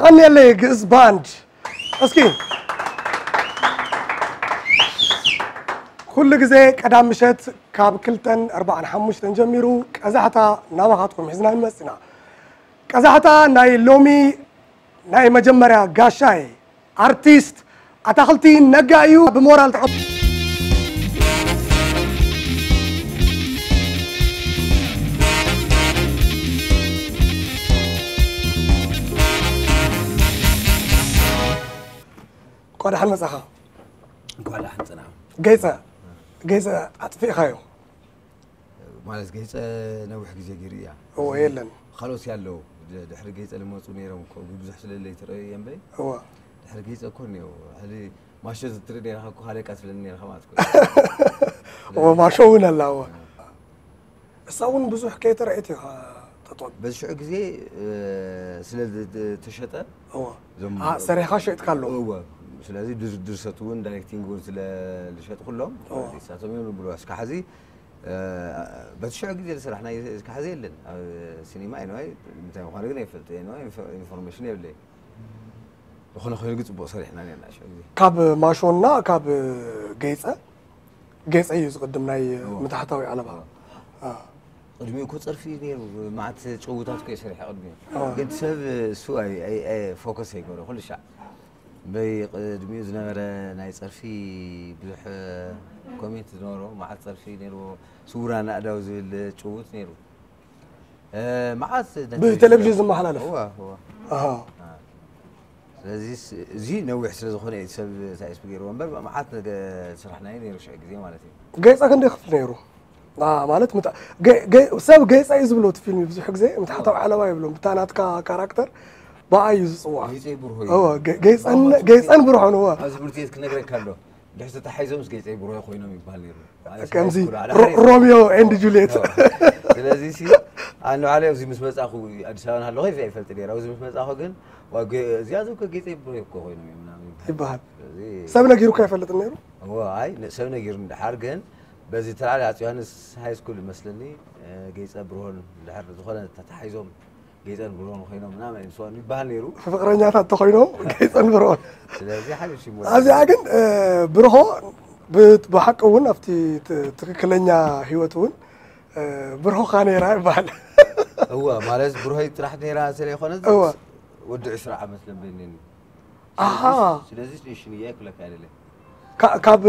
ቀንየለይ ግእዝ ባንድ። እስኪ ኩሉ ግዜ ቀዳም ምሸት ካብ ክልተን ኣርባዓን ሓሙሽተን ጀሚሩ ቀዛሕታ ናባኻትኩም ሒዝና ንመጽና። ቀዛሕታ ናይ ሎሚ ናይ መጀመርያ ጋሻይ ኣርቲስት ኣታኽልቲ ነጋ እዩ። ብሞራል ተቐ- እንኳዕ ደሓን መጻኻ። እንኳዕ ደሓን ጸናሕ። ገይጸ ገይጸ ኣጥፊእኻዮ። ማለት ገይጸ ነዊሕ ግዜ ገይሩ እያ። እዎ፣ የለን። ካልኦት ኣለዉ። ድ- ድሕሪ ገይጸ ልመጹ ነይሮም እኮ፣ ብዙሕ ስለ ለይተረኣዩ እየ እምበይ። እዎ። ድሕሪ ገይጸ እኮ እኒኦ። ሕዚ ማሾ ዝትርኢ ነይርካ እኮ፣ ካልእ እካ ትብለኒ ነይርካ ማለት እኮ። እዎ፣ ማሾ እውን ኣላ፣ እዎ። እሳ እውን ብዙሕ ከይተረኣየት ኢኻ ተጥቕም። በዚ ሽዑ ግዜ፣ እ፣ ስለ ዝ- ዝ- ተሸጠ፣ እዎ። እዞም ኣ፣ ሰሪሕኻ ሸይጥካ ኣሎ። እዎ። ስለዚ ድር- ድርሰት እውን ዳይሬክቲንግ እውን ስለ ዝሸጥኩሎም፣ እዎ። ንሳቶም እዮም ዝብሉ። እስካ ሕዚ፣ እ፣ በቲ ሽዑ ግዜ ዝሰራሕናዮ እስካ ሕዚ የለን። ኣብ ሲኒማ ኤንዋይ እንታይ ምዃኑ ግን ኣይፈልጥ፣ ኤንዋይ ኢንፎ- ኢንፎርሜሽን የብለይ። ዝኾነ ኮይኑ ግን ጽቡቕ ሰሪሕና ነርና ሽዑ ግዜ። ካብ ማሾና ካብ ገይጸ፣ ገይጸ እዩ ዝቕድም ናይ እዎ። ምትሓታዊ ዓለባ። እዎ። ኣ። ቅድሚኡ እኮ ጸርፊ ነይሩ፣ መዓት ጭውታት እኮ እየ ሰሪሐ ቅድሚኡ። እዎ። ግን ሰብ እሱ ኣይ- ኣይ- ኣይ- ፎከስ ኣይገበረ ኩሉ ሻዕ። በይ ቅድሚኡ ዝነበረ ናይ ጸርፊ ብዙሕ ኮሜንት ዝነበሮ፣ መዓት ጸርፊ ነይርዎ፣ ስውራን ኣእዳው ዝብል ጭውት ነይሩ። እ፣ መዓት ነቲ- ብቴሌቪዥን ዝመሓላለፍ? እዋ፣ እዋ። ኣሃ። ስለዚ ስ- እዚ ነዊሕ ስለ ዝኾነ እዩ ሰብ ሳይስፕ ገይርዎ እምበር፣ መዓት ነገ ስራሕናዮ ነይሩ ሽዑ ግዜ ማለት እዩ። ገይጸ ክንደይ ክፍሊ ነይሩ? ኣ፣ ማለት ምታ- ገ- ገ- ሰብ ገይጸ እዩ ዝብሎ እቲ ፊልም ብዙሕ ግዜ ምትሓታዊ ዓለባ ይብሎም። ብታ ናትካ ካራክተር ብኣ እዩ ዝጽዋዕ። ገይጸይ ብርሆ እዩ። እዎ፣ ገ- ገይጸን- ገይጸን ብርሆን፣ እዎ። ኣብዚ ትምህርቲ ቤት ክነግረካ ኣሎ። ድሕሪ ተታሒዞም ምስ ገይጸይ ብርሆ ኮይኖም ይበሃል ነይሩ። ማለት ከምዚ ሃይስኩል፣ ኣለ ሮ- ሃይስኩል። ሮሚዮ ኤንድ ጁልየት። እዎ። ስለዚ ሲ፣ ኣነ ባዕለይ ኣብዚ ምስ መጻኹ፣ ኣዲስ ኣበባ እናሃለኹ ይፈ-፣ ይፈልጥ ነይረ። ኣብዚ ምስ መጻኹ ግን፣ ዋ፣ ገ-፣ እዚኣቶም ከ ገይጸይ ብርሆ እኮ ኮይኖም እዮም ምናምን ይበሃል። ይበሃል። ስለዚ ሰብ ነጊሩካ ኣይፈልጥን ነይሩ? እዎ፣ ኣይ፣ ን-፣ ሰብ ነጊሩኒ ድሓር ግን፣ በዚ ተላዕሊ ኣጽ ዮሃንስ ሃይስኩል ይመስለኒ፣ እ፣ ገይጸ ብርሆን ድሕር ዝኾነ ተታሒዞም ገይጸን ብርሆን ኮይኖም ምናምን እዮም ዝስዋኑ ይበሃል ነይሩ። ፍቕረኛታት ተኾይኖም ገይጸን ብርሆን። ስለዚ ሓድሽ ይሞ- ኣብዚኣ ግን፣ እ፣ ብርሆ ብ-፣ ብሓቂ እውን ኣብቲ ት-፣ ትክክለኛ ህይወት እውን፣ እ፣ ብርሆኻ ነይራ ይበሃል። እወ፣ ማለት ብርሆይ ጥራሕ ነይራ ስለ ይኾነ እወ። ወዲ ዕስራ ዓመት ለበይኒ። ኣሃ። ስለዚ ሽንያ ይኩለካ ኣይደለ። ካ-፣ ካብ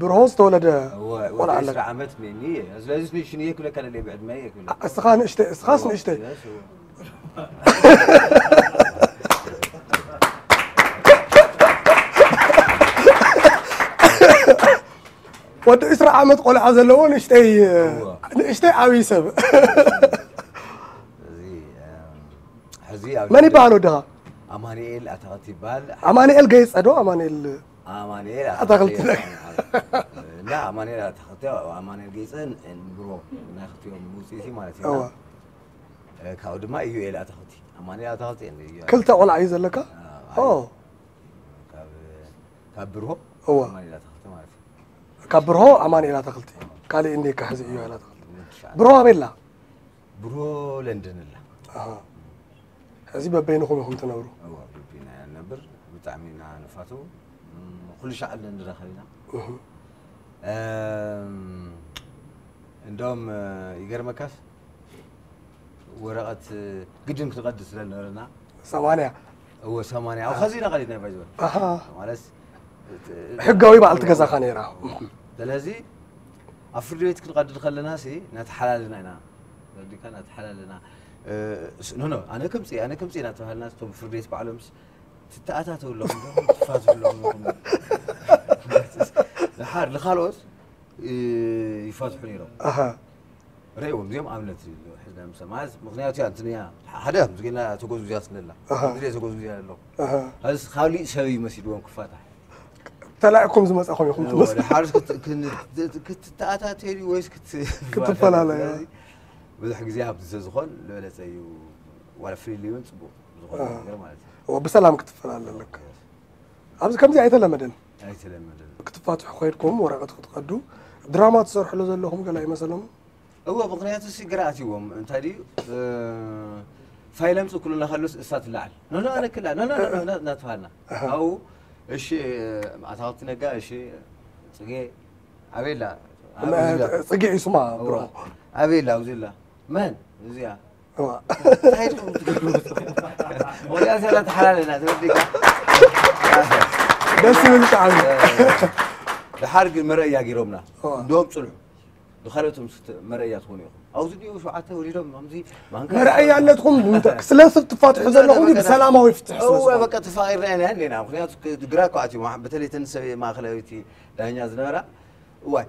ብርሆ ዝተወለደ እወ፣ ቆልዓ ወዲ ኣለካ። ዕስራ ዓመት ነኒ። ስለዚ ሽንያ ይኩለካ ደለ ብዕድመ ይኩለ። እስኻ ንእሽተይ፣ እስኻስ ንእሽተይ። ወዲ ዕስራ ዓመት ቆልዓ ዘለዎ ንእሽተይ፣ እወ። ንእሽተይ ዓብዪ ሰብ። እዚ፣ እም፣ ሕዚ ኣብ መን ይበሃል ወድኻ? ኣማኑኤል ኣታኽልቲ ይበሃል። ኣማኑኤል ገይጸ ዶ? ኣማኑኤል ኣማኑኤል ኣታኽልቲ። እና ኣማኑኤል ኣታኽልቲ፣ ኣማኑኤል ገይጸ ብሮ ናይ ክልቲኦም ውፅኢት ማለት እዩ። እወ። እ፣ ካብኡ ድማ ኢዩኤል ኣታኽልቲ። ኣማኑኤል ኣታኽልቲ እንደ ኢዩኤል። ክልተ ቆልዓ እዩ ዘለካ? ኦ፣ ኦ። ካብ፣ ካብ ብርሆ እወ። ኣማኑኤል ኣታኽልቲ ማለት እዩ። ካብ ብርሆ ኣማኑኤል ኣታኽልቲ። ካልእ እንዴካ ሕዚ ኢዩኤል ኣታኽልቲ። ወዲ ሸዓ። ብርሆ ኣበይ ኣላ? ብርሆ ለንደን ኣላ። ኣሃ። ሕዚ በበይንኹም ኢኹም ትነብሩ? እወ፣ በቢና ኢና ንነብር። ብጣዕሚ ኢና ንፋተው። እም፣ ኩሉ ሻዕ ንራኸብ ኢና። እህ። እም፣ እንደውም፣ እ፣ ይገርመካስ ወረቐት ግድን ክንቐድድ ስለ ዝነበረና። ሰማንያ። እወ፣ ሰማንያ። ኣብ ኸዚ ኢና ቀዲድና ባይዘ። ኣሃ። ማለት ሕጋዊ በዓልቲ ገዛኻ ነይራ። ስለዚ ኣብ ፍርዲ ቤት ክንቐድድ ከለና ሲ እናተሓላለና ኢና። ወዲካ እናተሓላለና። እ፣ ስ-፣ ኖ፣ ኖ፣ ኣነ ከምጽእ፣ ኣነ ከምጽእ እናተባሃልና እቶም ፍርዲ ቤት ባዕሎምስ ትተኣታተው ኣለኹም ዶ? ትፋትሑ ኣለኹም ዶ? ድሓር ንኻልኦት፣ እ፣ ይፋትሑ ነይሮም። ኣሃ። ርእዎም እዚኦም ኣብነት እዩ ሕዝና ምስ ማለት ምኽንያቱ እያ እንትን እያ ሓደ ከምዚ ጌና ተጎዝጉዝያ ስለ ኣላ። ኣሃ። ከምዚ ጌና ተጎዝጉዝያ ኣሎ። ኣሃ። ሀዚ ካሊእ ሰብ እዩ መሲልዎም ክፋታሕ። ተላኢኩም ዝመጻኹም ኢኹም ትመስሉ። ወደ ሓርስ ክት-፣ ክን-፣ ክትተኣታተዩ ወይስ ክት-፣ ክትፈላለዩ። ስለዚ ብዙሕ ግዜ ኣብቲ ስለ ዝኾን ዝበለጸ እዩ። ዋላ ፍሪሊ እውን ጽቡቕ ዝኾነ ኣሃ። ነገር ማለት እዩ። እዎ፣ ብሰላም ክትፈላለ ኣለካ። ኣብዚ ከምዚ ኣይተለመደን። ኣይተለመደን። ክትፋትሑ ከይድኩም ወረቐት ክትቀዱ ድራማ ትሰርሕሉ ዘለኹም ገለ ኣይመሰሎም? እዎ፣ ምኽንያቱ ሲ ግራ ኣትይዎም። እንታይ ድዩ፣ እ፣ ፋይል ኣምጽእ ክብሉና ከለስ እሳ ትለዓል። ኖ፣ ኖ፣ ኣነ ክላ፣ ኖ፣ ኖ፣ ኖ፣ ኖ፣ እናተባሃልና። ኣብኡ፣ እሺ፣ ኣታኽልቲ ነጋ፣ እሺ፣ ጽጌ፣ ኣበይ ኣላ? ኣብ መ- እዚኣ። ጽጌ እዩ ስማ፣ ብሮ። እዋ። ኣበይ ኣላ? ኣብዚ ኣላ። መን? እዚኣ። እዋ። እንታይ ኢኹም ትገብሩ? ወዲያ ዘላ ተሓላለና፣ ተወዲካ። ደስ ዝብል ጣዕሚ። ድሓር ግን መረእያ ገይሮምና። እዋ። እንዲኦም ጽንሑ። ንኻልኦትም ስተ-፣ መረእያ ትኾኑ ኢኹም። ኣብዚ ድዩ ሸውዓተ ወሊዶም፣ ከምዚ ማንካ መርኣያነትኩም እንተ-፣ ስለ ሰብ ትፋትሑ ዘለኹም ግን ብሰላማዊ ፍትሕ ስለ እወ፣ ዝኾነ። በቃ ተፋቒርና ኢና እንዲና። ምኽንያቱ ግ-፣ ግራ እኮ ኣትዩ፣ ማሕ-፣ በተለይ ተን ሰብ ማእኸላዊት ዳኛ ዝነበራ፣ እዋይ፣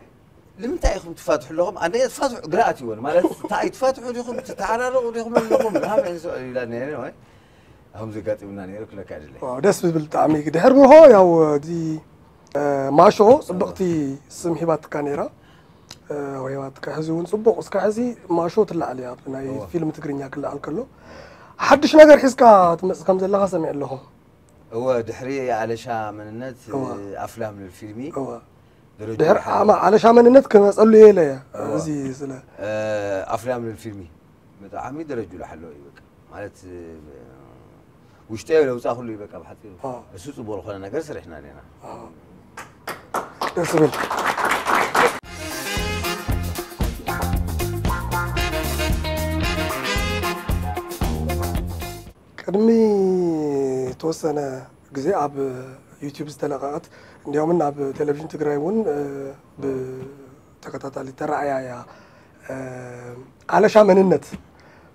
ንምንታይ ኢኹም ትፋትሑ ኣለኹም? ኣነ ትፋትሑ፣ ግራ ኣትይወን። ማለት፣ እንታይ ትፋትሑ ዲኹም? ትተዓራረቑ ዲኹም ኣለኹም? ምናምን ኢለን ዝስዕብ ኢላ ነይረ፣ ወይ? ኣሁም ዘጋጢሙና ነይሩ ክለካ ድለ። ዋው፣ ደስ ዝብል ጣዕሚ። ድሕር ብርሆ፣ ያው፣ እዚ፣ እ፣ ማሾ ጽብቕቲ ስም ሂባትካ ነይራ። እ፣ ወይ ሂባትካ፣ ሕዚ እውን ጽቡቕ፣ እስካ ሕዚ ማሾ ትለዓል እያ፣ ኣብ ናይ እዋ። ፊልም ትግርኛ ክለዓል ከሎ። ሓድሽ ነገር ሒዝካ ትመጽእ ከም ዘለኻ ሰሚዐ ኣለኹ። እወ፣ ድሕሪ ኣለሻ መንነት፣ እዋ። ኣፍላም ልብል ፊልሚ እዋ። ደረጃ ድሕር ሓለዋ። ኣማ-፣ ኣለሻ መንነት ክመጸሉ እየ ኢለ እየ። እዋ። እዚ ስለ እ፣ ኣፍላም ልብል ፊልሚ ብጣዕሚ ደረጅኡ ዝሓለወ እዩ፣ በቃ። ማለት፣ እ፣ ውሽጠይ ለውጻ ኩሉ እዩ፣ በቃ፣ ብሓጺሩ። ኦ። እሱ ጽቡቕ ዝኾነ ነገር ስሪሕና ኣለና። ደስ ዝብል። ቅድሚ ተወሰነ ግዜ ኣብ ዩቲዩብ ዝተለቐቐት፣ እንዲያውም ኣብ ቴሌቪዥን ትግራይ እውን፣ እ፣ ብተኸታታሊ ተረኣያ እያ። እ፣ ኣለሻ መንነት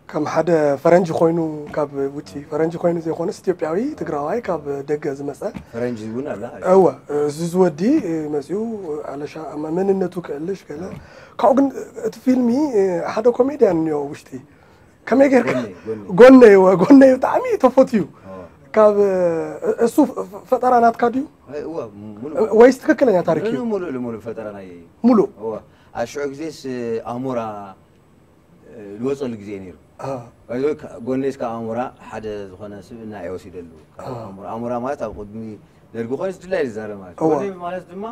ከም ሓደ ፈረንጂ ኮይኑ፣ ካብ ውጪ ፈረንጂ ኮይኑ ዘይኮነስ ኢትዮጵያዊ ትግራዋይ ካብ ደገ ዝመጸ። ፈረንጂ እውን ኣላ። እወ፣ እዚ ዝወዲ፣ እ፣ መጺኡ ኣለሻ መንነቱ ክእልሽ ገለ። ካብኡ ግን እቲ ፊልሚ፣ እ፣ ሓደ ኮሜድያን እኒኦ ውሽጢ። ከመይ ጌርካ? ጎነይ፣ ጎነይ። ጎነይ፣ እወ፣ ጎነይ ብጣዕሚ ተፈትዩ። እወ። ካብ፣ እ፣ እሱ ፈ-፣ ፈጠራ ናትካ ድዩ? ኣይ፣ እወ፣ ሙሉ። ወይስ ትክክለኛ ታሪክ እዩ? ሙሉ፣ ሙሉ፣ ሙሉ ፈጠራ ናይ ሙሉ። እወ። ኣብ ሽዑ ግዜስ ኣሞራ፣ እ፣ ዝወጸሉ ግዜ ነይሩ። አ። ባይዞ፣ ጎነይስ ካብ ኣሞራ ሓደ ዝኾነ ስብእና እየ ወሲደሉ። ካብ ኣሞራ፣ ኣሞራ ማለት ኣብ ቅድሚ ደርጊ ኮይኑስ ድላይ ዝዛረብ ማለት እዩ። እወ። ጎነይ ማለት ድማ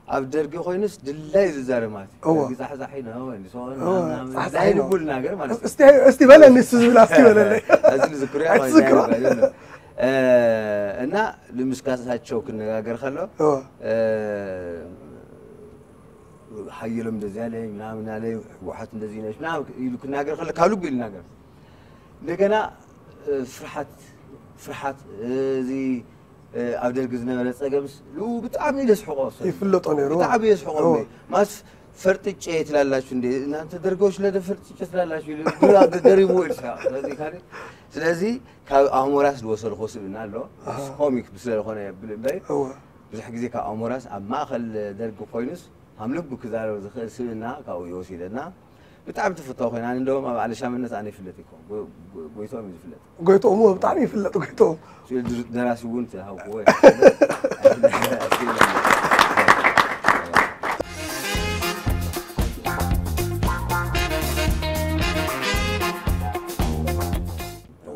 ኣብ ደርጊ ኮይኑስ ድላይ ዝዛረብ ማለት እዩ። እወ። ደርጊ ፃሕፃሒ ነው፣ እንዲ ሰው እወ፣ ምናምን ፃሕፃሒ ድላይ ነው። ንቡል ነገር ማለት እዩ። እስቲ፣ እስቲ በለኒ፣ እስቲ ዝብል፣ እስቲ በለለይ። እዚ ዝክርያ ኣትዝክሮ። ማለት እዩ። እ፣ እና ንምስካሳቸው ክነጋገር ከሎ፣ እወ። እ፣ ሓየሎም እንደዚህ አለኝ፣ ምናምን አለኝ፣ ህወሓት እንደዚህ ነች፣ ምናምን ኢሉ ክናገር ከሎ፣ ካብ ልቡ ይናገር። እንደገና፣ እ፣ ፍርሓት፣ ፍርሓት፣ እ፣ እዚ፣ እ፣ ኣብ ደርጊ ዝነበረ ጸገምስ፣ ሉ ብጣዕሚ ደስሕቆ ሰብ። ይፍለጦ ነይሩ። ብጣዕሚ የስሕቆ። እወ። ማስ ፈርጥጬ ትላላችሁ እንዴ? እናንተ ደርጎች ለደ ፈርጥጬ ትላላችሁ። ይሉ፣ ግራ ደሪቡ ይልካ። ስለዚህ ካለ፣ ስለዚህ ካብ ኣሞራስ ዝወሰድኮ ስብእና ኣሎ። ኣሃ። ኮሚክ ስለ ዝኾነ የብል እምበይ፣ እወ። ብዙሕ ግዜ ካብ ኣሞራስ ኣብ ማእከል ደርጊ ኮይኑስ ሃም ልቡ ክዛረብ ዝኽእል ስብእና ካብኡ ይወሲደና። ብጣዕሚ ተፈታዊ ኮይና። ኣነ እንደውም ኣብ ኣለሻምነት ኣነ ይፍለጥ እኮ። ጎ-፣ ጎ-፣ ጎይትኦም እዩ ዝፍለጥ። ጎይትኦም እወ፣ ብጣዕሚ ይፍለጥ ጎይትኦም። ስለ ድ-፣ ደራሲ እውን ተሃውክዎ።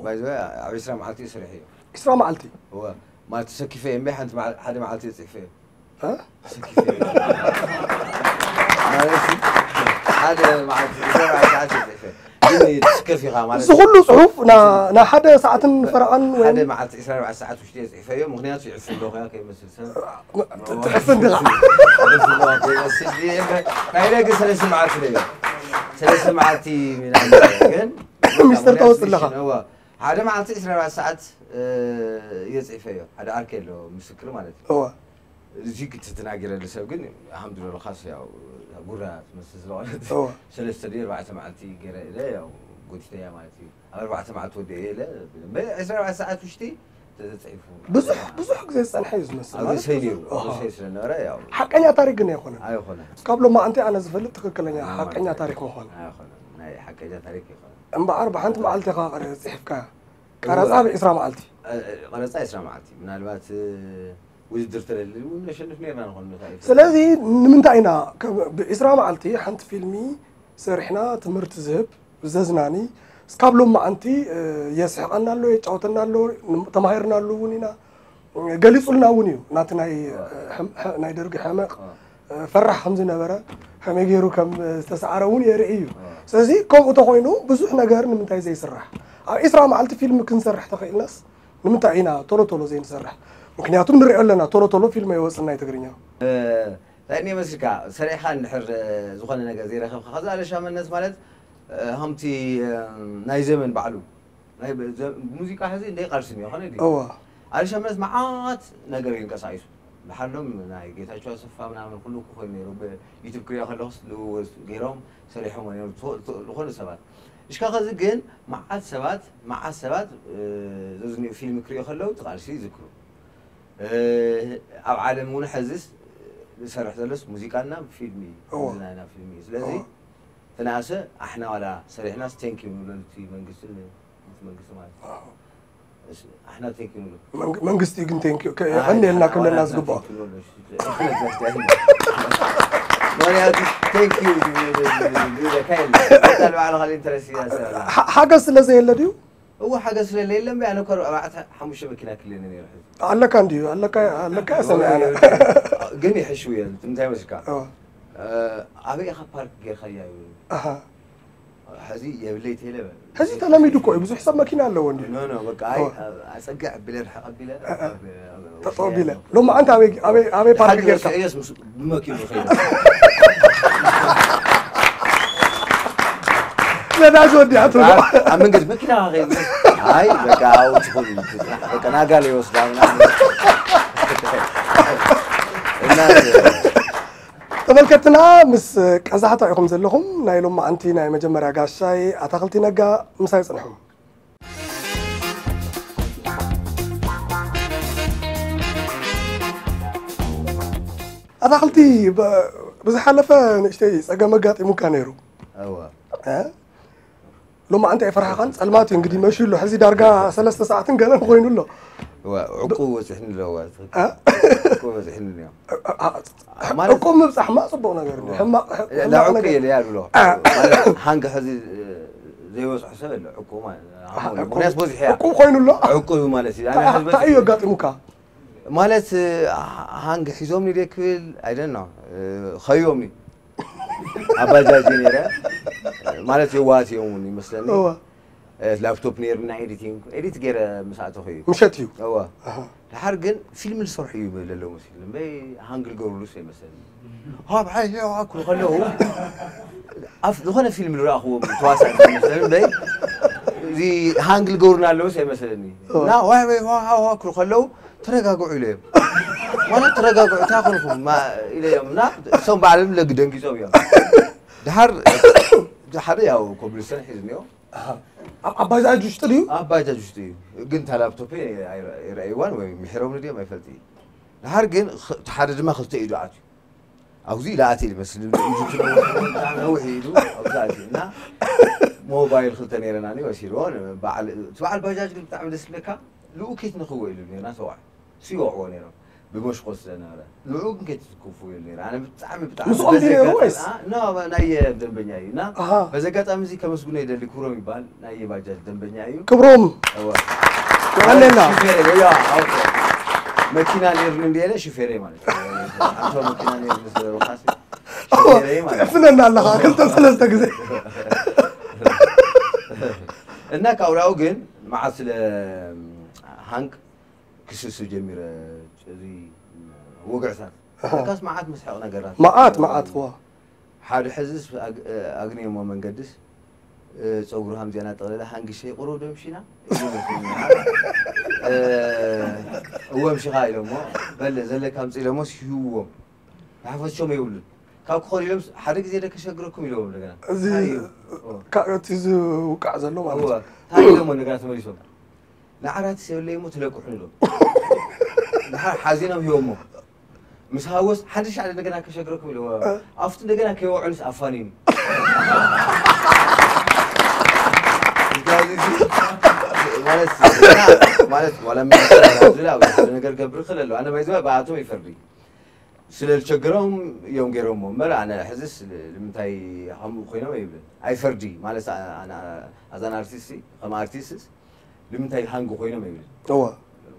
ባይ ዘ ወይ ኣብ ዒስራ መዓልቲ እዩ ስርሕ እዩ። ዒስራ መዓልቲ? እወ፣ ማለት ተሰኪፈ እየ እምበይ ሓንቲ መዓ-፣ ሓደ መዓልቲ እየ ጽሒፈ እየ። እ? ተሰኪፈ እየ። ማለት ሓደ መዓልቲ ዒስራ መዓልቲ እየ ጽሒፈ። ግን ትስከፍ ኢኻ ማለት እዚ ኩሉ ጽሑፍ ና-፣ ናይ ሓደ ሰዓትን ፈረቓን ወይ ሓደ መዓልቲ ዒስራ ኣርባዕተ ሰዓት ውሽጢ እየ ጽሒፈዮ። ምኽንያቱ ይዕፍን ዶ ኾያ ከይመስል ሰብ። ትዕፍን ዲኻ? ይዕፍን ዶ ከይመስል ድየ? ናይ ደገ ሰለስተ መዓልቲ ነይሩ። ሰለስተ መዓልቲ ምናምን ግን ሚስተር ተወጽእ ኣለኻ። እወ። ሓደ መዓልቲ ዒስራ ኣርባዕተ ሰዓት፣ እ፣ እየ ጽሒፈዮ። ሓደ ዓርከይ ኣሎ፣ ምስክር ማለት እዩ። እወ። እዚ ክትናገረሉ ሰብ ግን፣ ኣልሓምዱሊላህ፣ ኻስ ያው ጉራ ትመስል ስለሆነት፣ እወ። ሰለስተ ድዩ ኣርባዕተ መዓልቲ ገይረ ኢለ፣ ያው ጎቲተያ ማለት እዩ። ኣብ ኣርባዕተ መዓልቲ ወዲአ ኢለ፣ በ-፣ ዒስራ ኣርባዕተ ሰዓት ውሽጢ ተተጽሒፉ። ብዙሕ፣ ብዙሕ ግዜ ዝጸንሐ እዩ ዝመስል። ኣብ ማለት ርእሰይ ነይሩ፣ ኣብ ኣሃ። ርእሰይ ስለ ነበረ፣ ያው ሓቀኛ ታሪክ ግን ኣይኮነን። ኣይኮነን። እስካብ ሎማዓንቲ ኣነ ዝፈልጥ ትክክለኛ ኣነ ሓቀኛ ማለት ታሪክ ምዃኑ። ኣይኮነን። ናይ ሓቀኛ ታሪክ ኣይኮነን። እምበኣር ብሓንቲ መዓልቲ ኢኻ ቀረ-፣ ጽሒፍካያ። ቀረጻ እወ። ብ ዒስራ መዓልቲ። እ፣ እ፣ ቀረጻ ዒስራ መዓልቲ። ምናልባት፣ እ፣ ውድድር ተለሊ እውን ነሸንፍ ነይርና ንኾን ንኽእል። ስለዚ ንምንታይ ኢና ከ-፣ ብ ዒስራ መዓልቲ ሓንቲ ፊልሚ ሰሪሕና ትምህርቲ ዝህብ፣ ዘዝናኒ፣ እስካብ ሎማዓንቲ፣ እ፣ የስሕቐና ኣሎ፣ የጫውተና ኣሎ፣ ን-፣ ተማሂርናሉ እውን ኢና። ገሊጹልና እውን እዩ፣ ናቲ ናይ፣ እወ። ሕም-፣ ሐ-፣ ናይ ደርጊ ሕመቕ፣ እወ። እ፣ ፈራሕ ከም ዝነበረ፣ ከመይ ገይሩ ከም ዝተሰዓረ እውን የርኢ እዩ። እወ። ስለዚ ከምኡ ተኾይኑ ብዙሕ ነገር ንምንታይ ዘይስራሕ? ኣብ ዒስራ መዓልቲ ፊልም ክንሰርሕ ተኽኢልናስ ንምንታይ ኢና ቶሎ ቶሎ ዘይንሰርሕ? ምክንያቱ ንሪኦ ኣለና፣ ቶሎ ቶሎ ፊልም ኣይወፅን ናይ ትግርኛ። እንታይ እኒኦ መስልካ፣ ሰሪሕኻ እንድሕር ዝኾነ ነገር ዘይረኸብካ፣ ከዛ ኣለሻመነት ማለት ከምቲ ናይ ዘመን ባዕሉ ናይ ሙዚቃ ሕዚ እንደ ቃልሲ እኒኦ ኾነ ድዩ? እዋ። ኣለሻመነት መዓት ነገር ይንቀሳቂሱ። ብሓሎም ናይ ጌታቸው ኣሰፋ ምናምን ኩሉ እኮ ኮይኑ ነይሩ። ብዩቱብ ክሪኦ ከለኹስ ልውውጥ ገይሮም ሰሪሖም ነይሩ ዝኾኑ ሰባት። እሽካ ከዚ ግን መዓት ሰባት መዓት ሰባት ዘዝኒኡ ፊልም ክሪኦ ከለዉ እቲ ቃልሲ ይዝክሩ። ኣብ ዓለም እውን ሕዝስ ዝሰርሕ ዘሎስ ሙዚቃና ፊልም እዩ። እዋ። እዚ ናይና ፊልም እዩ። ስለዚ እዋ። ተናእሰ ኣሕና ዋላ ሰሪሕናስ ቴንኪ ንብለሉ እቲ መንግስቲ ን-፣ እቲ መንግስቲ ማለት እዩ። እዋ። እስ-፣ ኣሕና ቴንኪ ንብሎ። መንግ-፣ መንግስቲ ግን ቴንኪ ከ-፣ ኣይ፣ የቐንየልና ኣይ፣ ክብለና ኣይ፣ ዝግባኦ። ቴንኪ ንብሎ። ምክንያቱ ቴንኪ ዝብለካ የለን። ኣታ ንባዕልኻ ኢንተረስት እያ ሰላ። ሓ-፣ ሓገዝ ስለ ዘየለ ድዩ? እወ፣ ሓገዝ ስለለ የለን። ኣነ እኮ ኣርባዕተ ሓሙሽተ መኪና ክልኒ ነይሩ ሕዚ። ኣለካ እንድዩ፣ ኣለካ፣ ኣለካ እየ ሰሚዐ ኣነ። ግን ይሕሽው እየ፣ እንታይ መስልካ? እወ። እ፣ ኣበይ ኢኻ ፓርክ ጌርካያ እዩ? ኣሃ። ሕዚ የብለይ ቴለ በል። ሕዚ ተለሚዱ እኮ እዩ፣ ብዙሕ ሰብ መኪና ኣለዎ እንድዩ። ኖ፣ ኖ፣ በቃ፣ ኣይ፣ እወ። ኣጸግዕ ኣቢለ፣ ርሕቕ ኣቢለ፣ እ፣ እ። ኣብ፣ ኣብ ጠጠው ኣቢለ። ሎማዓንቲ ኣበይ፣ ኣበይ፣ ኣበይ ፓርክ ሓዲ ጌርካ? ኢሳያስ ምስ ብመኪኑ ኸይደ። ነዳጅ ወዲኣትሉ። ኣብ መንገዲ መኪና ኸይደ። ኣይ፣ በቃ፣ ኣብኡ ትኹን፣ በቃ፣ ናጋለ ይወስዳ ምናምን። እና ተመልከትና፣ ምስ ቀዛሕታ ኢኹም ዘለኹም። ናይ ሎማዓንቲ ናይ መጀመርያ ጋሻይ ኣታኽልቲ ነጋ ምሳይ ጽንሑ። ኣታኽልቲ፣ ብ-፣ ብዝሓለፈ ንእሽተይ ጸገም ኣጋጢሙካ ነይሩ። እወ። እ? ሎማዓንቲ ኣይፈርሓኻን? ጸልማት እዩ እንግዲህ መሽዩ ኣሎ። ሕዚ ዳርጋ ሰለስተ ሰዓትን ገለን ኮይኑ ኣሎ። እወ፣ ዕቁብ በጺሕኒ ኣሎ፣ እወ። እ? ዕቁብ በጺሕኒ ኣሎ። እ፣ እ፣ እ፣ ማለት ዕቁብ ምብጻሕ ሕማቕ ጽቡቕ ነገር እዩ። እወ። ሕማቕ፣ ላ ሕማቕ ዕቁብ ነገር። የለ እያ ዝብሎ። እ። ማለት ሃንግ ሕዚ ዘይበጽሖ ሰብ ኣሎ፣ ዕቁብ ማለት። ኣሃ፣ ዕቁብ። ምክንያት በዚሑ እያ። ዕቁብ ኮይኑ ኣሎ? ዕቁብ ማለት እዩ። ኣነ እንታይ፣ ሕዚ እንታይ እዩ በጺሑ ኣጋጢሙካ? ማለት፣ ሃንግ ሒዞምኒ ድየ ክብል፣ I don't know። ኸዮምኒ። ኣብ ባጃጅ ነይረ። ማለት የዋሃት እዮም እውን ይመስለኒ። እወ። ላፕቶፕ ነይርና፣ ኤዲቲንግ፣ ኤዲት ገይረ ምስ ኣተኹ እዩ። ምሸት እዩ። እወ። ኣሃ። ደሓር ግን ፊልም ዝሰርሑ እዩ ዘለዉ መሲሉ። እምበይ ሃንግ ዝገብሩሉስ ኣይመሰለኒ። ሃብ ሓይ፣ ሃብ ክብሉ ከለዉ፣ ኣብ ዝኾነ ፊልም ዝረኣኽዎም ተዋሳእቲ ይመስለኒ እምበይ፣ እዚ ሃንግ ዝገብሩና ኣለዉስ ኣይመሰለኒ። እወ። እና ዋይ፣ ዋይ፣ ሃ፣ ሃ፣ ሃ ክብሉ ከለዉ፣ "ተረጋግዑ" ኢለዮም። ማለት፣ "ተረጋግዑ፣ እንታይ ኮንኩም?" ማ-፣ ኢለዮም። እና እሶም ባዕሎም ለግ ደንጊጾም እዮም። ደሓር፣ ደሓር ያው ኮብልስተን ሒዝንዮ። ኣሃ። ኣብ፣ ኣብ ባጃጅ ውሽጢ ድዩ? ኣብ ባጃጅ ውሽጢ እዩ። ግን እታ ላፕቶፕ ኣይረ-፣ ኣይረኣይዋን ወይ ምሒሮም ድዮም ኣይፈልጥ እዩ። ደሓር ግን ኽ-፣ እቲ ሓደ ድማ ክልተ ኢዱ ኣትዩ። ኣብዚ ኢሉ ኣትዩ ይመስል፣ ኢዱ ትነውሕ፣ ብጣዕሚ ነዊሕ ኢዱ ኣብዚ ኣትዩ። እና ሞባይል ክልተ ነይረናኒ ወሲድዎ። በዓል፣ እቲ በዓል ባጃጅ ግን ብጣዕሚ ደስ ዝብለካ፣ ልኡኪት ንኽዎ ኢሉ ነይርና ሰዋዕ። ሲወዕዎ ነይሮም። ብመሽኮት ስለነበረ። ንዕኡ ግን ከይትትኩፉ ኢሉ ነይሩ። ኣነ ብጣዕሚ፣ ብጣዕሚ ምስኦም ድዩ ነይሩ በዚ ወይስ? ኣጋጣሚ፣ ኖ፣ ናይ ደንበኛ እዩ። እና ኣሃ። በዚ ኣጋጣሚ እዚ ከመስግኖ ይደሊ፣ ክብሮም ይበሃል፣ ናይ ባጃጅ ደንበኛ እዩ። ክብሮም። እወ። የቐንየልና። ሽፌሬ፣ ያ፣ ኣውቶ። መኪና ነይሩኒ እንድየ ኢለ ሽፌሬ ማለት እዩ። ኣንተ መኪና ነይሩኒ ስለ ዝበልካሲ፣ እወ፣ ሽፌሬ ማለት እዩ። ትዕፍነና ኣለኻ፣ ክልተ ሰለስተ ግዜ። እና ካብኡ ግን መዓት ስለ ሃንግ ክስስብ ጀሚረ፣ እዚ ወግዕታት። ኣሃ። ለካስ መዓት መስሕቕ ነገራት። መዓት፣ መዓት፣ ዋ። ሓደ ሕዝስ ኣግ-፣ ኣግንየሞ መንገድስ፣ እ፣ ጸጉሩ ሃምዚኣ እናጠቕለለ፣ "ሃንግሸይ ቁሩብ ደምሺና?" ኢሉ መሲሉኒ። እ፣ "እወ፣ ምሺኻ" ኢሎሞ፣ "በለ፣ ዘለካ ኣምጽእ" ኢሎሞስ ሂብዎም። ንሓፈሾም የብሉን። ካብ ክኾን ኢሎም፣ "ሓደ ግዜ ዶ ከሸግረኩም?" ኢሎዎም እንደገና። እዚ እንታይ እዩ? ካ-፣ እቲ ዝውቃዕ ዘሎ ማለት እወ፣ እዩ። እንታይ ኢሎሞ እንደገና ተመሊሶም? ንዓራት የብለይ እሞ ትለቅሑን ኢሎም። ድሓር ሓዚኖም ሂቦሞ። ምስ ሃወስ ሓድሽ ሓደ እንደገና ከሸግረኩም ኢልዎ። እ። ኣብቲ እንደገና ከይወዕሉስ ኣፋኒኑ። ማለት፣ ማለት ዋላ ምን ዝላ ሓደ ነገር ገብር ክእል ኣለዎ። ኣነ ባይዘ ብኣቶም ይፈርዲ። ስለ ዝቸገሮም እዮም ገይሮሞ እምበር ኣነ ሕዝስ ንምንታይ ከምኡ ኮይኖም ኣይብልን። ኣይፈርዲ ማለት ኣነ ኣዛን ኣርቲስት ከም ኣርቲስትስ ንምንታይ ሃንግ ኮይኖም ይብል? እወ።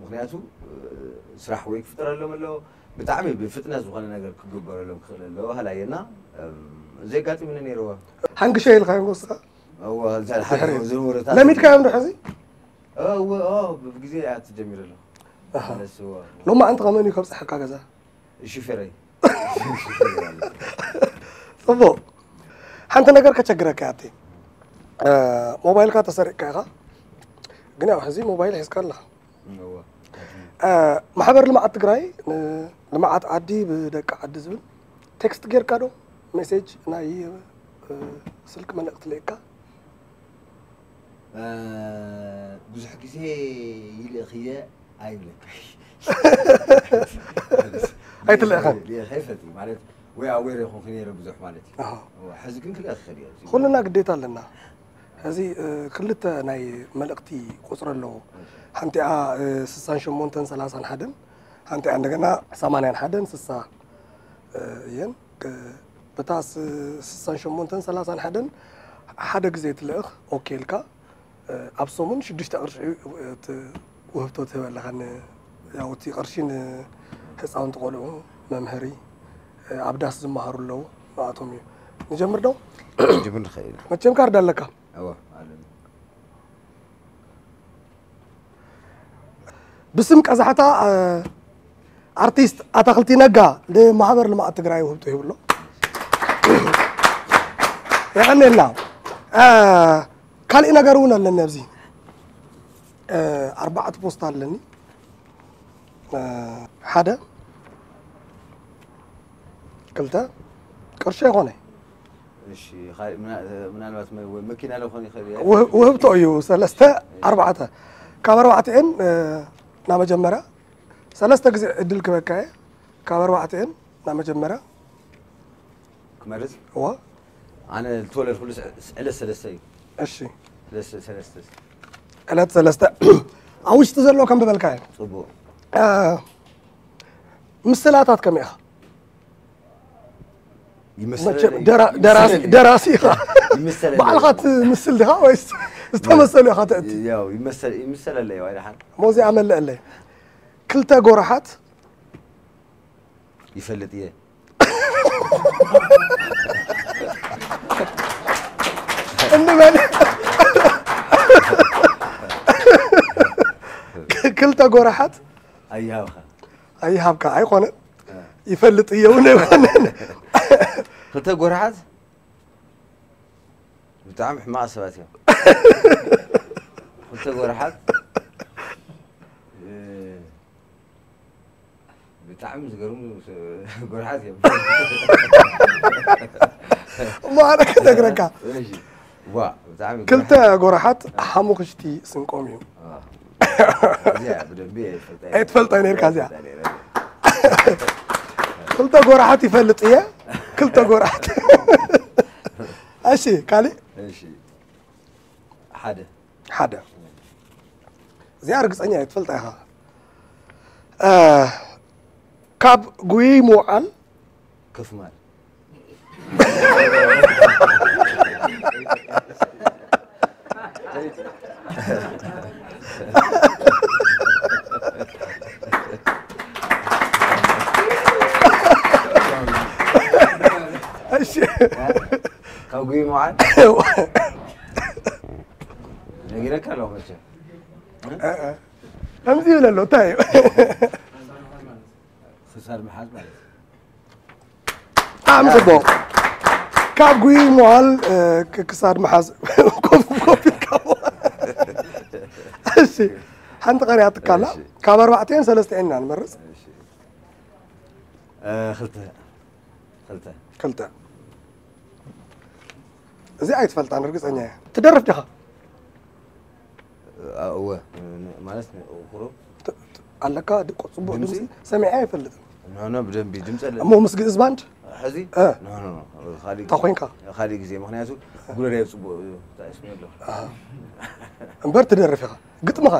ምኽንያቱ፣ እ፣ ስራሕ ወይ ክፍጠረሎም ኣለዎ፣ ብጣዕሚ ብፍጥነት ዝኾነ ነገር ክግበረሎም ክኽእል ኣለዎ፣ ሃላየና፣ እም፣ እዚ ኣጋጢሙኒ ነይሩ። ሃንግሸይ ኢልካዮ ንስኻ? እወ፣ እዛ ድሕሪ ዝርውርታት ለሚድካዮም ዶ ሕዚ? እወ፣ ኦ፣ ብግዜ እያ ትጀሚር ኣለኹ። ኣሃ። ማለት እወ። ሎማዓንቲ ከመን እዩ ከብፅሐካ ገዛ? ሹፌረይ። ፅቡቕ። ሓንቲ ነገር ከቸግረካ እያ ኣብቲ እ፣ ሞባይልካ ተሰሪቕካ ኢኻ፣ ግን ያው ሕዚ ሞባይል ሒዝካ ኣለኻ። እወ። እ፣ ማሕበር ልምዓት ትግራይ ንልምዓት ዓዲ ብደቂ ዓዲ ዝብል ቴክስት ጌርካ ዶ? ሜሴጅ ናይ እ፣ ስልክ መልእኽቲ ልእካ? እ፣ ብዙሕ ግዜ ይልእኽየ ኣይብለካ። ኣይትልእኸን? ልእኸ ይፈትዩ ማለት ወይ ኣዌር ይኹንኩ ነይረ ብዙሕ ማለት እዩ። ኣሃ። እወ፣ ሕዚ ግን ክልእኽ ይኽእል እየ። ኩልና ግዴታ ኣለና። ሕዚ እ፣ ክልተ ናይ መልእኽቲ ቁፅሪ ኣለዎ። ሓንቲኣ እ፣ ስሳን ሸሞንተን ሰላሳን ሓደን፣ ሓንቲኣ እንደገና ሰማንያን ሓደን ስሳ እ፣ እየን። ክ- በታ ስ- ስሳን ሸሞንተን ሰላሳን ሓደን ሓደ ግዜ ትልእኽ። ኦኬ ኢልካ እ፣ ኣብ ሰሙን ሽዱሽተ ቅርሺ እ፣ ት- ውህብቶ ትህበለኻ። ን- ያው እቲ ቅርሺ ንህፃውንቲ ቆልዑ መምሀሪ እ፣ ኣብ ዳስ ዝመሃሩ ኣለዉ፣ ንኣቶም እዩ። ንጀምር ዶ? ጅምር ንኽእል ኢና። መቸም ካርድ ኣለካ። እወ፣ ኣለኒ። ብስም ቀዛሕታ እ፣ ኣርቲስት ኣታኽልቲ ነጋ ንማሕበር ልምዓት ትግራይ ውህብቶ ይብሎ። የቐኔልና። እ፣ ካሊእ ነገር እውን ኣለኒ ኣብዚ እ፣ ኣርባዕተ ፖስታ ኣለኒ። እ፣ ሓደ፣ ክልተ፣ ቅርሺ ኣይኮነ። እሺ፣ ኻሊእ ምና- ምናልባት መ- ወይ መኪና ዶ ክኾን ይኽእል እዩ? ውህ- ውህብቶ እዩ። ሰለስተ፣ ኣርባዕተ። ካብ ኣርባዕቲኤን እ፣ ናብ መጀመርያ ሰለስተ ግዜ ዕድል ክበካ እየ። ካብ ኣርባዕቲኤን ናብ መጀመርያ ክመርጽ? እዋ። ኣነ ዝተወለድኩሉ ስ- ዕለት ሰለስተ እዩ። እሺ። ሰለስተ ሰለስተ። ዕለት ሰለስተ። ኣብ ውሽጢ ዘሎ ከም ዝበልካ እዩ። ጽቡቕ። እ፣ ምስላታት ከመይ ኢኻ? ይመሰለለይ- መቸም ደራ- ደራሲ- ይመሰለለይ- ደራሲ ኢኻ። ይመሰለለይ። ባዕልኻ ትምስል ዲኻ ወይስ ዝተመሰሉ ኢኻ ተእቲ? ያው ይመሰል- ይመሰለለይ ዋይ ደሓን። ሞዚኣ መልእለይ። ክልተ ጎራሓት ይፈልጥ እየ። እንበል። ክልተ ጎራሓት ኣይሃብኻ። ኣይሃብካ ኣይኮነ። ይፈልጥ እየ እውን ኣይኮነ። ክልተ ጎራሓት ብጣዕሚ ሕማቕ ሰባት እዮም። ክልተ ጎራሓት እ፣ ብጣዕሚ ዝገርሙ ስ- ጎራሓት እዮም። እሞ ኣነ ክነግረካ። እሺ። ዋ፣ ብጣዕሚ ክልተ ጎራሓት ሓሙኽሽቲ ስንቆም እዩ። አ። እዚኣ ብደንቢ እየ ዝፈልጣ እየ። ኣይትፈልጣ ነርካ እዚኣ። እየ። ክልተ ጎራሓት ይፈልጥ እየ። ክልተ ጎራሓት። እሺ፣ ካሊእ? እሺ። ሓደ። ሓደ። እዚኣ ርግጸኛ እየ ትፈልጣ ኢኻ። እ፣ ካብ ጉይይ ምውዓል ከፍ ማል። እሺ። ካብ ጉይ መዓል ነጊረካ ኣለኹ መቸም። ከምዚ ይብል ኣሎ፣ እንታይ እዩ? ክሳድ ምሓዝ ማለት እዩ። ብጣዕሚ ጽቡቕ። ካብ ጉይ መዋል እ፣ ክ- ክሳድ ምሓዝ ኮፍ ኮፍ ኢልካ መዋል። እሺ፣ ሓንቲ ቀሪያ ትካላ። እሺ። ካብ ኣርባዕተን ሰለስተን ኢና ንመርጽ። እሺ። እ፣ ክልተ ክልተ ክልተ። እዚ ኣይትፈልጣን ርግጸኛ እየ። ትደርፍ ዲኻ? እ፣ እወ ን- ማለት ንእኩሮ ት- ት- ኣለካ ድቆ ጽቡቕ ድምጺ? ድምጺ ሰሚዐ ኣይፈልጥን። ኖ ኖ ብደንቢ ድምጺ ኣለ እሞ ምስ ግእዝ ባንድ ሕዚ እ። ኖ ኖ ኖ ካልእ እንታይ ኮይንካ? ካልእ ግዜ ምኽንያቱ ጉረዳይ ጽቡቕ እዩ ተኣስሚ ኣሎ እምበር ትደርፍ ኢኻ። ግጥምኻ?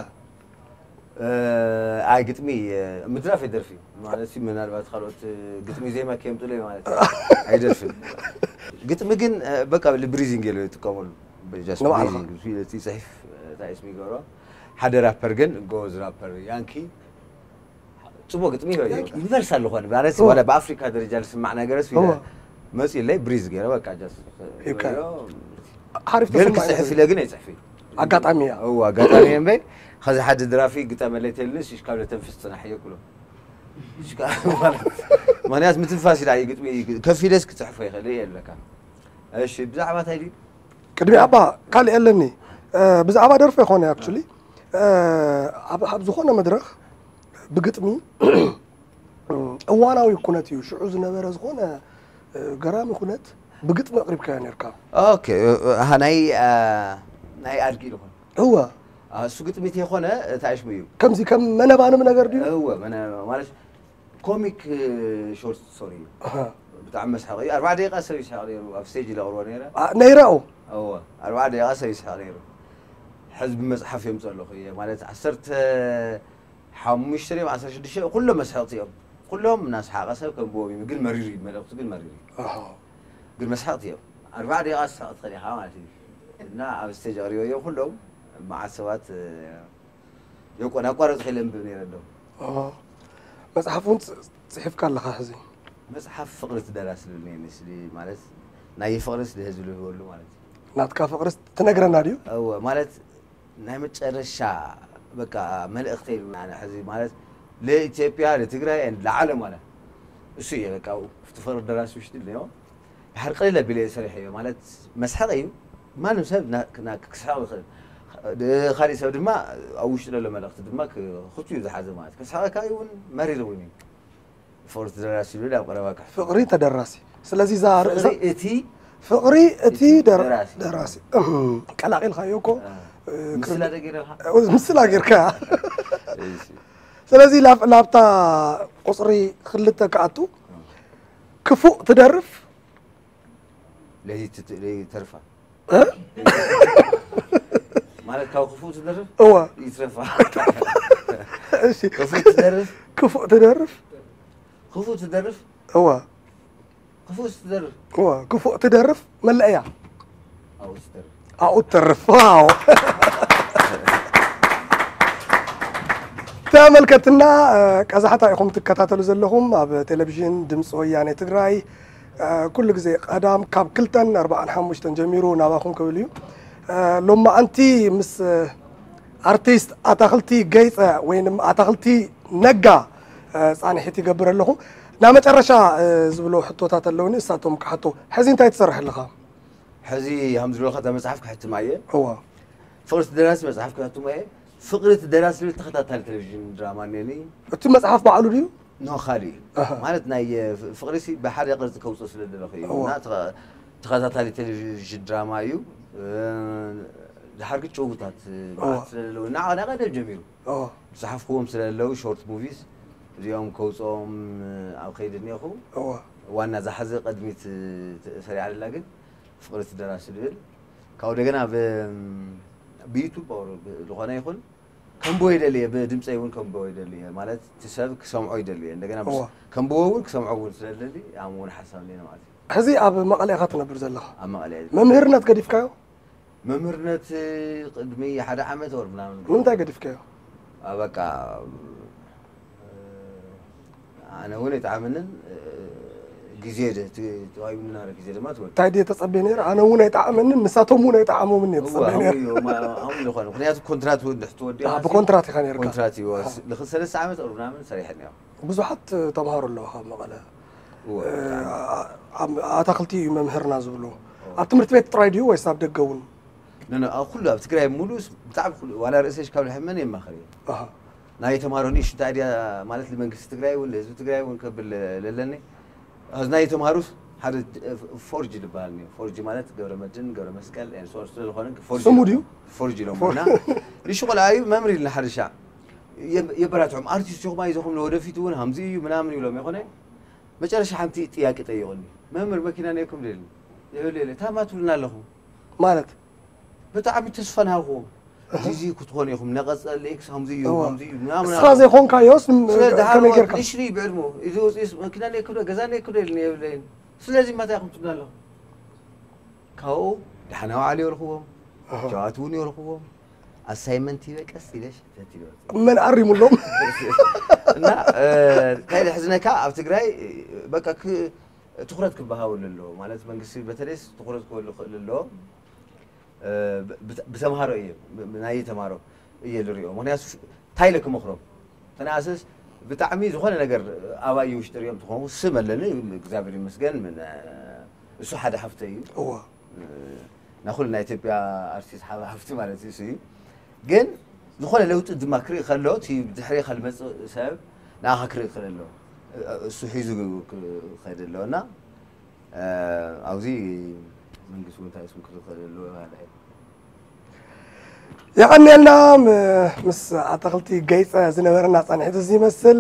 እ፣ ኣይ ግጥሚ እ፣ ምድራፍ ይደርፊ ማለት እዩ። ምናልባት ካልኦት እ፣ ግጥሚ ዜማ ከየምጡለይ ማለት እዩ። ኣይደርፍን። ግጥሚ ግን እ፣ በቃ ብሪዚንግ ኢለ ይጥቀመሉ። Just ንባዕልኻ? ብሪዚንግ፣ እቲ ጽሒፍ እ፣ እንታይ ስም ይገብሮ ሓደ ራፐር ግን ጎበዝ ራፐር ያንኪ ጽቡቅ ግጥሚ እዩ። ዩኒቨርሳል ዝኾነ ማለት እወ። ዋላ ብኣፍሪካ ደረጃ ዝስማዕ ነገር ስ እወ። መፅኡ ለይ ብሪዝ ገይረ በቃ just ይካ። ሓሪፍ ግን ተሰማዒ ክፅሕፍ ነገር። ኢለ ግን ኣይፅሕፍ እዩ። ኣጋጣሚ እያ። እዋ ኣጋጣሚ እየ እምበይ። ከዚ ሓደ ድራፊ ግጠመለይ ተልንስ ሽካብ ለተንፍስ ፅናሕ እየ ክሎ። ምክንያት ምትንፋስ ኢላ እዩ ግጥሚ። ከፍ ኢለስ ክፅሕፎ ይኽእል እየ ኣለካ። እሺ ብዛዕባ እንታይ ድዩ? ቅድሚ ኣባ ካልእ ኣለኒ። ብዛዕባ ደርፊ ይኾነ ኣክቹሊ ኣብ ዝኾነ መድረኽ ብግጥሚ እዋናዊ ኩነት እዩ። ሽዑ ዝነበረ ዝኾነ ገራሚ ኩነት ብግጥሚ ኣቕሪብካዮ ነርካ። ኦኬ። ኣሃ ናይ ናይ ኣድጊ ዝኾነ እወ እሱ ግጥሚት የኾነ። ታሽሙ እዩ። ከምዚ ከም መነባንብ ነገር ድዩ? እወ መነ ማለት ኮሚክ ሾርት ስቶሪ እዩ። ኣሃ። ብጣዕሚ መስሓቕ እዩ። ኣርባዓ ደቂቃ ሰብ ይስሓቕ ነይሩ ኣብ ስቴጅ ለቕርቦ ነይረ። ኣ- ነይራኡ እወ ኣርባዓ ደቂቃ ሰብ ይስሓቕ ነይሩ። ሕዚ ብመፅሓፍ የምፀለኹ እየ ማለት ዓሰርተ ሓሙሽተ ድዮም ዓሰርተ ሽዱሽተ ኩሎም መስሓቕቲ እዮም። ኩሎም እናስሓቐ ሰብ ከንብቦም እዩ። ግን መሪር እዩ። መልእኽቱ ግን መሪር እዩ። ኣሃ። ግን መስሓቕቲ እዮም። ኣርባዓ ደቂቃ ዝስሓቕ ትኽእል ኢኻ ማለት እዩ። እና ኣብ ስቴጅ ኣቕሪበ እዮም ኩሎም መዓት ሰባት የቆን ኣቋረጥ ከይለ እንብብ ነይረ ኣለኹ። ኣሃ። መፅሓፍ እውን ጽ- ጽሒፍካ ኣለኻ ሕዚ። መፅሓፍ ፍቕሪ ትደራሲ ዝብል ነይ ስሊ ማለት ናይ ፍቕሪ ስሊ ህዝቢ ልህበሉ ማለት እዩ። ናትካ ፍቕሪ ትነግረና ድዩ? እወ ማለት ናይ መጨረሻ በቃ መልእኽተይ እዩ። ኣነ ሕዚ ማለት ለኢትዮጵያ ለትግራይ and ለዓለም ማለት እሱ እየ በቃ እቲ ፍቕሪ ደራሲ ውሽጢ ነዮ። ድሓር ቅልል ኣቢለ እየ ሰሪሐዮ ማለት መስሓቕ እዩ። ማንም ሰብ ና- ና- ክስሕቕ ይኽእል። ድ- ካሊእ ሰብ ድማ ኣብ ውሽጢ ዘሎ መልእኽቲ ድማ ክ- ክቱ እዩ ዝሓዘ ማለት ከስሓቐካ እውን መሪር እውን እዩ። ፍቕሪ ትደራሲ ዝብል ኣብ ቀረባ ክሕቶ ፍቕሪ ተደራሲ። ስለዚ እዛ ርእሳ ፍቕሪ እቲ ፍቕሪ እቲ እቲ ደር- ደራሲ። ደራሲ እም፣ ቀላቒልካዮ እኮ እ፣ ምስላ ደጊረኻ ምስላ ጌርካያ። እሺ። ስለዚ ላብ- ላብታ ቁፅሪ ክልተ ክኣቱ ክፉእ ትደርፍ ለይቲ ት- ለይተርፋ እ? ማለት ካብ ክፉእ ትደርፍ እወ ይትረፋ። እሺ ክፉእ ትደርፍ ክፉእ ትደርፍ ክፉእ ትደርፍ እወ ክፉእ ትደርፍ እወ ክፉእ ትደርፍ መለእያ ኣብኡ ትደርፍ ኣብኡ ትተርፍ። ዋው። ተመልከትና ቀዛሕታ ኢኹም ትከታተሉ ዘለኹም ኣብ ቴሌቪዥን ድምፂ ወያኔ ትግራይ። ኩሉ ግዜ ቀዳም ካብ ክልተን ኣርባዓን ሓሙሽተን ጀሚሩ ናባኹም ክብል እዩ። ሎማዓንቲ ምስ ኣርቲስት ኣታኽልቲ ገይፀ ወይንም ኣታኽልቲ ነጋ ፃንሒት ይገብር ኣለኹ። ናብ መጨረሻ ዝብሎ ሕቶታት ኣለውኒ እሳቶም ክሓቶ። ሕዚ እንታይ ትሰርሕ ኣለኻ? ሕዚ ከም ዝብለካ እታ መፅሓፍ ክሕትማ እየ። እዋ ፍቕሪ እቲ ደራሲ መፅሓፍ ክሕትማ እየ። ፍቕሪ እቲ ደራሲ ዝብል ተኸታታሊ ቴሌቪዥን ድራማ እኒአኒ። እቲ መፅሓፍ ባዕሉ ድዩ? ኖ ካሊእ እዩ። ኣሃ። ማለት ናይ ፍ- ፍቕሪ ሲ ብሓደ ቅርፂ ከውፅኦ ስለ ዝደለኹ እዩ። እዋ። እና ተኸ- ተኸታታሊ ቴሌቪዥን ድራማ እዩ። እ፣ ድሓር ግን ጭውታት እዋ። መዓት ስለ ዘለዉ እና ናይ ቀደም ጀሚሩ እዋ ዝሓፍክዎም ስለ ዘለዉ ሾርት ሙቪስ እዚኦም ከውፅኦም ኣብ ከይዲ እኒኹ። እዋ ዋና ዝሓዘ ቅድሚት ተ- ሰሪዓ ደላ ግን ፍቕሪ እቲ ደራሲ ዝብል ካብኡ ደገና ብ- ብዩቱብ ኦር ብ- ዝኾነ ይኹን ከንብቦ ይደሊ እየ። ብድምፀይ እውን ከንብቦ ይደሊ እየ። ማለት እቲ ሰብ ክሰምዖ ይደሊ እየ። እንደገና ምስ- እዋ። ከንብቦ እውን ክሰምዖ እውን ስለደሊ ኣም እውን ሓሳብ እኒአኒ ማለት እዩ። ሕዚ ኣብ መቐለ ኢኻ ትነብር ዘለኻ። ኣብ መቐለ እየ። መምህርነት ገዲፍካዮ? መምህርነት ቅድሚ ሓደ ዓመት ወር ምናምን ንምንታይ ገዲፍካዮ? ኣ፣ በቃ እ፣ ኣነ እውን ኣይጠዓመንን። እ፣ ግዜ ድ- ት- ተዋሂቡና ግዜ ድማ ትወድ እንታይ ድየ ተጸብየ ነይረ? ኣነ እውን ኣይጠዓመንን ንሳቶም እውን ኣይጠዓሞምን እየ እዋ፣ ተጸብየ ኣሁን ነይረ። እዩ፣ ማ- ኣሁን ዝኾነ ምክንያቱ ኮንትራት እውን ድሕቲ ወዲ ኣ፣ ብኮንትራት ኢኻ ነይርካ። ኮንትራት እዩ። ንክልተ ሰለስተ ዓመት ኦር ምናምን ሰሪሐ እኒኦ። ብዙሓት ተምሃሮ ኣለዉ ካብ መቐለ። እወ፣ እ፣ ኣ- ኣ- ኣታኽልቲ እዩ መምህርና ዝብሉ። ኣብ ትምህርቲ ቤት ጥራይ ድዩ ወይስ ኣብ ደገ እውን? ኖ፣ ኖ፣ ኣብ ኩሉ ኣብ ትግራይ ሙሉ ብጣዕሚ ኩሉ ዋላ ርእሰሽ ካብ ልሕመን የማኸር እየ። ኣሃ። ናይ ተምሃሮ ንእሽቶ እንታይ ድያ ማለት ንመንግስቲ ትግራይ እውን ንህዝቢ ትግራይ እውን ከብል ለለኒ ኣብዚ ናይ ተምሃሩስ ሓደ ፎርጅ ዝበሃል እኒኦ። ፎርጅ ማለት ገብረ መድን ገብረ መስቀል and so on ስለ ዝኾነ ፎርጅ ስሙ ኢሎም- ድዩ? ፎርጅ ኢሎም እና ንእሽቶ ቆልዓ እዩ መምህር ኢልና ሓደ ሻዕ የብ- የበራትዖም ኣርቲስት ኢኹም ኣይዞኹም ንወደፊት እውን ሃምዚ እዩ ምናምን ይብሎም ይኾነ። መጨረሻ ሓንቲ ጥያቄ ጠይቑኒ መምህር መኪና ነይኩም ደልኒ የብለ የለ ታማ ትብሉና ኣለኹም ማለት ብጣዕሚ ተስፋ ናሃብኩዎም። እዚ ክትኾኑ ኢኹም ነቐፀሊ ኤክስ ከምዚ እዩ እዋ። ከምዚ እዩ ምናምን እስኻ ዘይኮንካዮስ ም- ስለ ከመይ ጌርካ? ንሽሪ ይብዕድሞ እዚ ወፂስ መኪና ነይኩዶ ገዛ ነይኩዶ ኢልኒ የብለይን። ስለዚ ማታ ኢኹም ትብሉ ኣለኹም ካብኡ ደሓና ዋዕሉ የልክዎም ኣሃ። ሸዋት እውን የልክዎም ኣሳይመንት ይበ ቀስ ኢለ ሸተት ይበ መን ኣሪሙሎም? እና እ፣ እንታይ ዝሕዝነካ ኣብ ትግራይ በቃ ክ- ትኩረት ክበሃወሉ ኣለዎ ማለት መንግስቲ በተለይስ ትኩረት ክበሉ ክእል ኣለዎ። ብተምሃሮ እየ፣ ናይ ተምሃሮ እየ ዝሪኦ። ምክንያቱ እንታይ ኢለ ክመክሮም፣ ተናኣስስ ብጣዕሚ ዝኾነ ነገር ኣባይ ውሽጢ ሪኦም ትኾኑ ስም ኣለኒ፣ እግዚኣብሔር ይመስገን። ምን እሱ ሓደ ሃፍተ እዩ። እዎ ናኹል ናይ ኢትዮጵያ ኣርቲስት ሓ- ሃፍቲ ማለት እዩ እሱ እዩ። ግን ዝኾነ ለውጢ ድማ ክርኢ ከሎ እቲ ድሕሪ ከልመፅእ ሰብ ንኣኻ ክርኢ ክእል ኣሎ። እሱ ሒዙ ክኸይድ ኣለዎ እና ኣብዚ መንግስቲ እውን እንታይ ስም ክርኢ ክእል ኣለዎ ማለት እዩ። የቐንየልና። ም- ምስ ኣታኽልቲ ገይፀ ዝነበረና ፃንሒት እዚ ይመስል።